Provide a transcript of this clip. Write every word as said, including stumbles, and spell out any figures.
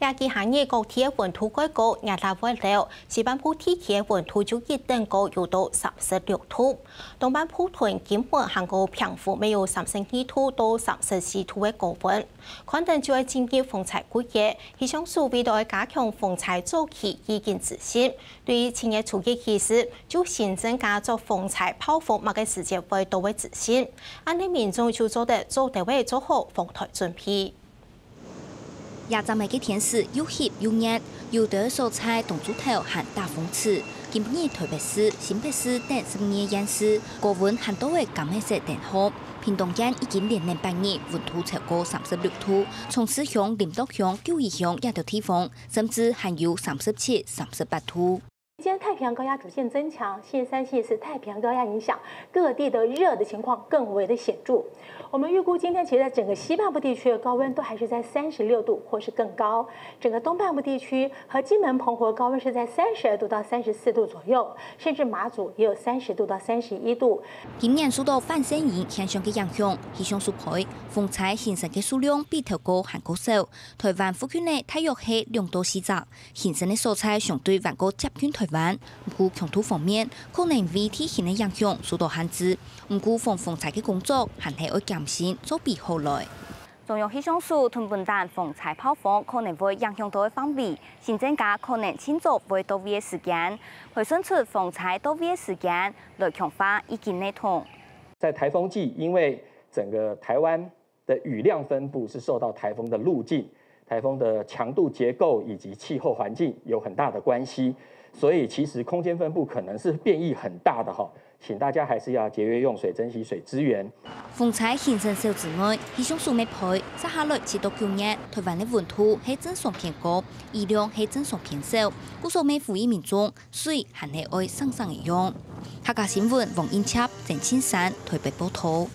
這幾下日各地个溫度較高，熱辣會了，西半部地區个溫度就一等高，有到三十六度。東半部同金門還過澎湖，乜有三十二度到三十四度个高溫。看等就愛進入風災季節，氣象署為到愛加強風災早期預警資訊，對於七月初一起始，就新增加做風災暴風麼个時節會到个資訊，恁呢民眾就做得早兜仔做好防颱準備。 這站仔个天時又翕又熱，有兜所在當晝頭還打風刺。今晡日臺北市、新北市等十二縣市，高溫還多个柑仔色燈號，屏東縣已經連連八日溫度超過三十六度，長治鄉、林德鄉、九如鄉這兜地方，甚至還有三十七、三十八度。 今天太平洋高壓逐漸增强，星期三、星期四太平洋高压影响，各地的热的情况更为的显著。我们预估今天其实在整个西半部地区的高温都还是在三十六度或是更高，整个东半部地区和金门、澎湖的高温是在三十二度到三十四度左右，甚至马祖也有三十度到三十一度。今年受到反声音现象个影响，气象署推，风灾形成个数量比头个还过少，台湾附近个大约系两到四只。 形成个所在相对还过接近台湾。毋过强度方面，可能为地形个影响受到限制。毋过防风灾个工作还系爱谨慎做比好来。中央气象署同本档风灾暴风可能会影响到个范围，新增加可能尽早会到位个时间，会算出风灾到位个时间，来强化预警系统。在台风季，因为整个台湾的雨量分布是受到台风的路径、台风的强度结构以及气候环境有很大的关系，所以其实空间分布可能是变异很大的哈，请大家还是要节约用水，珍惜水资源。风灾形成少之外，气象署乜推，接下来七到九月，台湾个温度系正常偏高，雨量系正常偏少，故所乜呼吁民众水还系爱省省个用。客家新闻王英chấp、曾庆山台北报道。